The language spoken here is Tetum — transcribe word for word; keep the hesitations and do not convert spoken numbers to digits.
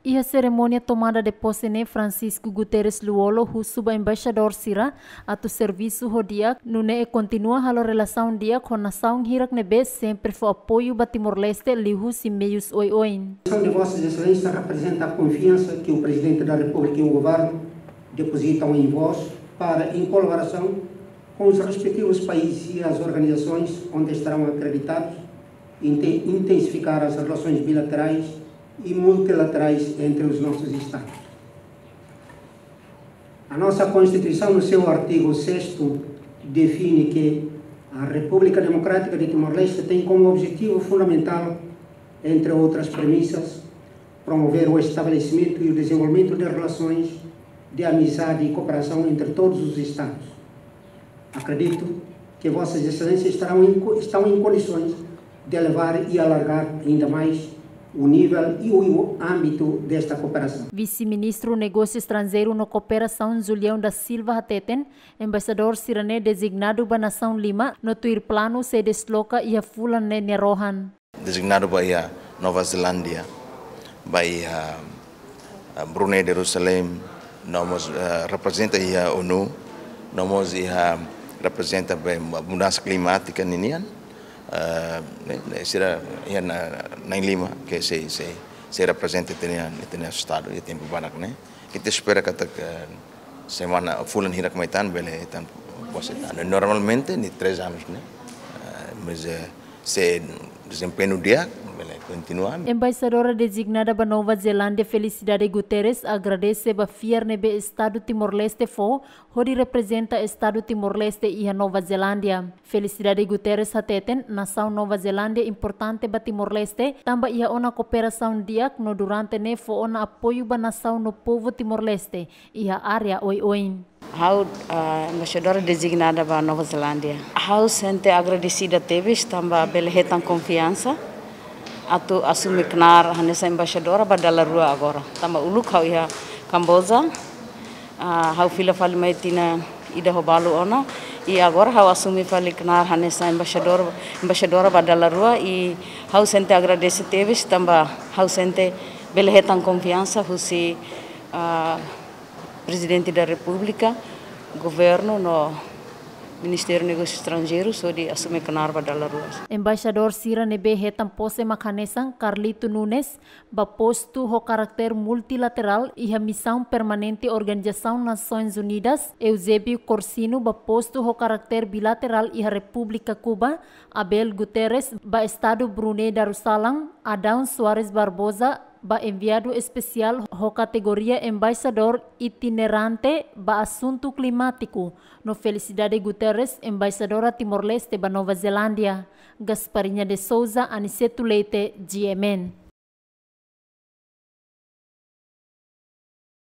Iha serimónia tomada de posse ne'e, Francisco Guterres Lú-Olo husu ba embaixadór sira atu servisu ho di'ak, nune'e kontinua halo relasaun di'ak ho nasaun hirak ne'ebé sempre fó apoiu ba Timor-Leste liuhusi meius oioin. A de Vossas Excelências representa a confiança que o Presidente da República e o Governo depositam em vós para, em colaboração com os respectivos países e as organizações onde estarão acreditados, inte-, intensificar as relações bilaterais e multilaterais entre os nossos Estados. A nossa Constituição, no seu artigo sexto, define que a República Democrática de Timor-Leste tem como objetivo fundamental, entre outras premissas, promover o estabelecimento e o desenvolvimento de relações de amizade e cooperação entre todos os Estados. Acredito que Vossas Excelências estarão em co-, estão em condições de elevar e alargar ainda mais o nível e o, o âmbito desta cooperação. Vise-Ministru Negósiu Estranjeiru no Kooperasaun, Julião da Silva, hateten embaixadór sira-ne'e dezignadu ba nasaun lima no tuir planu sei desloka iha fulan ne'e nia rohan. Dezignadu ba iha Nova Zelándia, ba iha, ah, Brunei Darussalam, no mós, ah, reprezenta iha ONU, no mós iha reprezenta ba mudansa klimátika ninian, ah, ne'e, ne'e sira iha na, na'in lima ke sei, sei, sei reprezenta ita-nia, ita-nia estadu iha tempu badak ne'e. Ita espera katak semana, fulan hirak mai tan bele hetan posse tan. Normalmente nia três anos ne'e. Ah, mas, eh, se dezempeñu di'ak, bele kontinua. Embaixadora dezignada ba Nova Zelándia, Felicidade Guterres, agradese ba fiar ne'ebé Estadu Timor-Leste fó hodi reprezenta Estadu Timor-Leste iha Nova Zelándia. Felicidade Guterres hateten nasaun Nova Zelándia importante ba Timor-Leste, tanba iha ona kooperasaun di'ak no durante ne'e fó ona apoiu ba nasaun no povu Timor-Leste iha área oioin. Ha'u, ah, embaixadora dezignada ba Nova Zelándia. Ha'u sente agradesida tebes tanba bele hetan konfiansa atu asume knaar hanesan embaixadora ba dala rua agora. Tanba uluk ha'u iha Kamboja, ah, ha'u fila fali mai tinan ida ho balu ona, i agora ha'u asume fali knaar hanesan embaixadór, embaixadora ba dala rua, i ha'u sente agradese tebes tanba ha'u sente bele hetan konfiansa husi, ah, Prezidente da Repúblika, Governu no Ministériu Negósius Estranjeirus hodi asume knaar ba dala rua. Embaixadór sira ne'ebé hetan posse mak hanesan Carlito Nunes, ba postu ho karakter multilaterál iha Misaun Permanente Organizasaun Nasoins Unidas, Eusébio Corsino, ba postu ho karakter bilaterál iha Repúblika Kuba, Abel Guterres, ba Estadu Brunei Darussalam, Adão Soares Barbosa, ba enviadu espesiál ho kategoria embaixadór itinerante ba asuntu klimátiku, no Felicidade Guterres, embaixadora Timor-Leste ba Nova Zelándia. Gasparinha de Souza, Aniceto Leite, G M N.